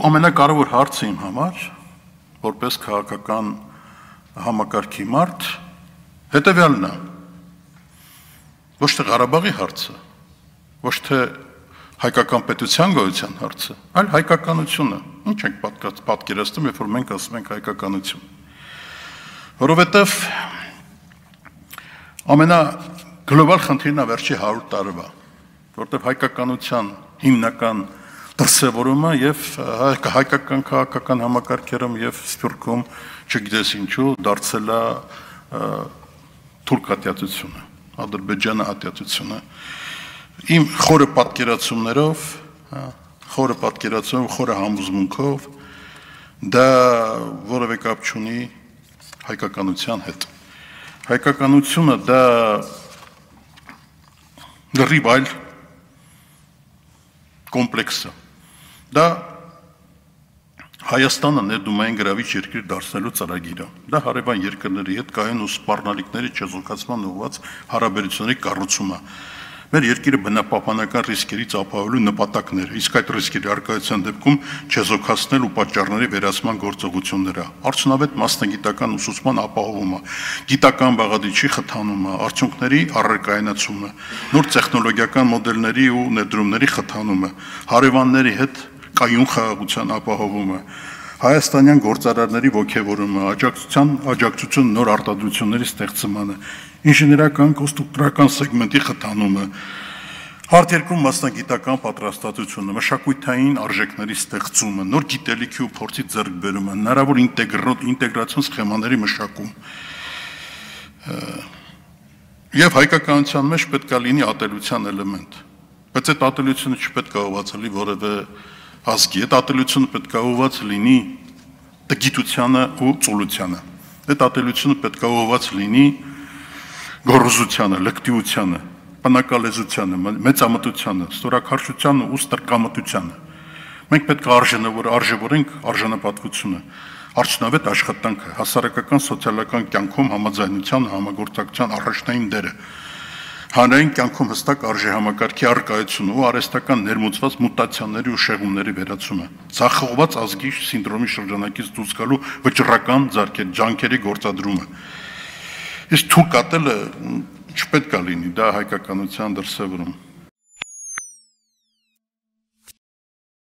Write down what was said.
Ամենակարևոր հարցը իմ համար, որպես քաղաքական համակարգի մարդ, հետևյալն է, ոչ թե Ղարաբաղի հարցը, ոչ թե հայկական պետության գոյության հարցը, այլ հայկականությունը, ինչ ենք պատկերացնում, երբ որ մենք ասում ենք հայկականություն, որովհետև ամենագլոբալ խնդիրն է վերջի 100 տարվա, որտեղ հայկականության հիմնական դրսևորումը եւ հայկական քաղաքական համակարգերում եւ Սփյուռքում չգիտես ինչու դարձել է թուրք ատյատությունը, Ադրբեջանի ատյատությունը իմ խորը պատկերացումներով, խորը համոզմունքով դա որևէ կապ չունի հայկականության հետ։ Հայկականությունը դա լրիվ այլ կոմպլեքս է։ Դա Հայաստանը ներդումային գրավիչ երկիր դարձնելու ծրագիրը։ Դա հարևան երկրների հետ կայուն ու սպառնալիքների չեզոքացման ուղղված հարաբերությունների կառուցումը։ Մեր երկիրը բնապահպանական ռիսկերից ապահովելու նպատակներ, իսկ այդ ռիսկերի առկայության դեպքում չեզոքացնել ու պատճառների վերացման գործողությունները, արդյունավետ մասնագիտական ուսուցման ապահովումը, գիտական բաղադրիչի խթանումը, արդյունքների առարկայնացումը, նոր տեխնոլոգիական մոդելների ու ներդրումների խթանումը, հարևանների հետ կայուն խաղաղության ապահովումը, հայաստանյան գործարարների ոգևորումը, աջակցություն նոր արտադրությունների ստեղծմանը, ինժեներական կոնստրուկտորական սեգմենտի խթանումը, հարթերկրում մասնագիտական պատրաստվածությունը, մշակութային արժեքների ստեղծումը, նոր գիտելիքի ու փորձի ձեռքբերումը, հնարավոր ինտեգրացիոն սխեմաների մշակում։ Եվ հայկականության մեջ պետք է լինի ատելության էլեմենտ, բայց այդ ատելությունը չպետք է ուղղված լինի որևէ ազգի, այդ ատելությունը պետք է ուղղված լինի տգիտությանը ու ծուլությանը, այդ ատելությունը պետք է ուղղված լինի գոռոզությանը, լկտիությանը, բնակալեզությանը, մեծամտությանը, ստորաքարշությանը ու ստրկամտությանը։ Մենք պետք է արժևորենք արժանապատվությունը, արդյունավետ աշխատանքը, հասարակական սոցիալական կյանքում համաձայնության, համագործակցության առաջնային դերը, հանրային կյանքում հստակ արժեհամակարգի առկայությունը ու արհեստական ներմուծված մուտացիաների ու շեղումների վերացումը, ցախողված ազգի սինդրոմի շրջանակից դուրս գալու վճռական ջանքերի գործադրումը։ Իսկ թուրք ատելը չպետք է լինի, դա հայկականության դրսևորում։